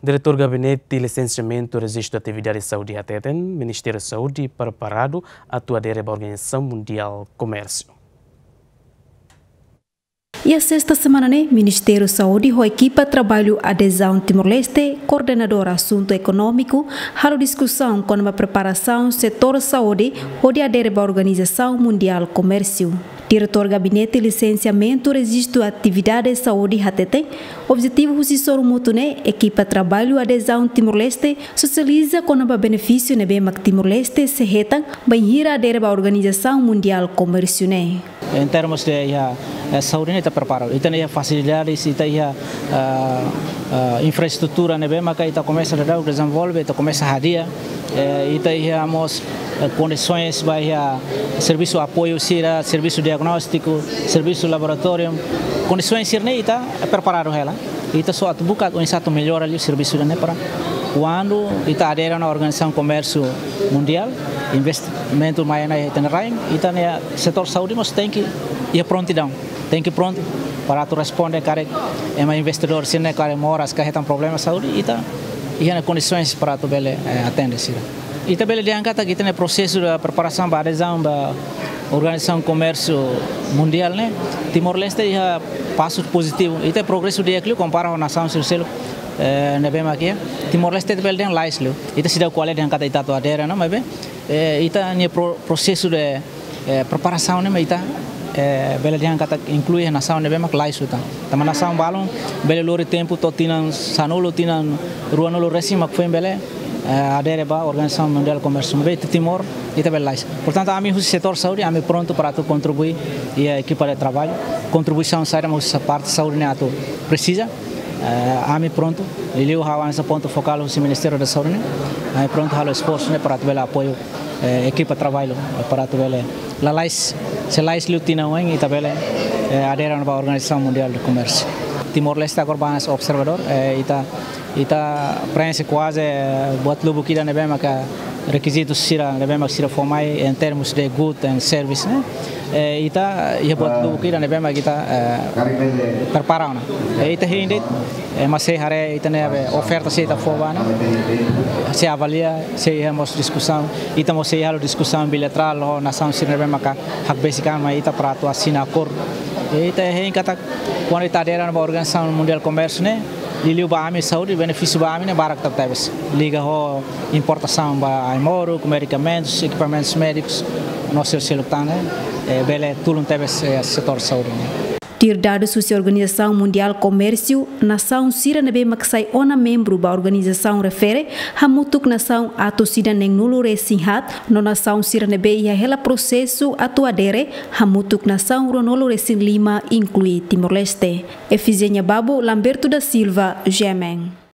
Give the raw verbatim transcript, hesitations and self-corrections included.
Diretór Gabinete Lisensiamentu Rejistu Atividade Saúde hateten, Ministériu Saúde preparadu atu adere ba Organizasaun Mundiál Komérsiu. Iha sesta semana ne'e, Ministériu Saúde ho ekipa traballu adezaun Timor-Leste, koordenadór asuntu ekonómiku, halo diskusaun kona-ba preparasaun setór saúde hodi adere ba Organizasaun Mundiál Komérsiu. Diretór Gabinete Lisensiamentu Rejistu Atividade Saúde hateten, objetivu husi sorumutu ne'e, ekipa traballu adezaun Timor-Leste sosializa kona-ba benefísiu ne'ebé mak Timor-Leste sei hetan bainhira adere ba Organizasaun Mundiál Komérsiu ne'e. Em termos de iha, eh, saúde ne'e ita preparadu. Ita-nia fasilidades, ita iha, ah, ah, infraestrutura ne'ebé maka ita komesa daudaun dezenvolve, ita komesa hadi'a. Eh, ita iha mós, eh, kondisoens ba iha servisu apoiu sira, servisu diagnóstiku, servisu laboratóriu. Kondisoens sira-ne'e ita, eh, preparadu hela. Ita só atu buka oinsá atu mellora liu servisu ida-ne'e para kuandu ita adere ona Organizasaun Komérsiu Mundiál, investimentu mai ona iha ita-nia rain, ita-nia setór saúde mós tenke iha prontidaun. Tenke prontu para atu responde karik ema investidór sira-ne'e karik moras ka hetan problema saúde, ita iha ona kondisoens para atu bele, eh, atende sira. Ita bele dehan katak ita-nia prosesu de preparasaun ba adezaun ba Organizasaun Komérsiu Mundiál ne'e, Timor-Leste iha pasu pozitivu. Ita progresu di'ak liu kompara ho nasaun sira seluk, eh, ne'ebé mak iha. Timor-Leste ita bele dehan lais liu. Ita seidauk ko'alia dehan katak ita atu adere ona, maibé, eh, ita-nia pro-, prosesu de, eh, preparasaun ne'e mak ita, eh, bele dehan katak inklui nasaun ne'ebé mak lais liután. Tanba nasaun balun bele lori tempu to'o tinan sanulu, tinan ruanulu resin mak foin bele, eh, adere ba Organizasaun Mundiál Komérsiu. Maibé Timor, ita bele lais. Portantu, ami husi setór saúde, ami prontu para atu kontribui iha ekipa de traballu. Kontribuisaun saida mak husi parte saúde ne'e atu presiza, eh, ami prontu. Liuliu ha'u hanesan pontu fokál husi Ministériu da Saúde ne'e, ami prontu halo esforsu ne'e para atu bele apoiu, eh, ekipa traballu, eh, para atu bele lalais, se lais liu tinan oin ita bele, eh, adere ba Organizasaun Mundiál de Komérsiu. Timor-Leste agora ba hanesan observadór, eh, ita, ita preenxe kuaze, eh, buat lubuk ida ne'ebé maka rekizitu sira ne'ebé mak sira fó mai em termos de good and service ne'e. Eh, ita iha buat lubuk ida ne'ebé mak ita, eh, prepara ona. Eh, ita hein de'it, eh, ema sei haree ita-nia be oferta se ita fó ba ne'e. Sei avalia, sei iha mós diskusaun, ita mós sei halo diskusaun bilaterál ho nasaun sira ne'ebé maka hakbesik an mai ita para atu asina akordu. Eh, ita hein katak kuandu ita adere ona ba Organizasaun Mundiál Komérsiu ne'e, liuliu ba ami saúde, benefísiu ba ami ne'e barak tebetebes. Liga ho importasaun ba ai-moruk, medikamentus, ekipamentus médikus, no selu-seluk tan ne'e, eh, bele tulun tebes, eh, setór saúde ne'e. Tuir dadus husi Organizasaun Mundiál Komérsiu, nasaun sira ne'ebé mak sai ona membru ba organizasaun refere, hamutuk nasaun atus ida neenulu resin haat, no nasaun sira ne'ebé iha hela prosesu atu adere, hamutuk nasaun ruanulu resin lima, inklui Timor-Leste. Efigénia Babo, Lamberto da Silva, G M N.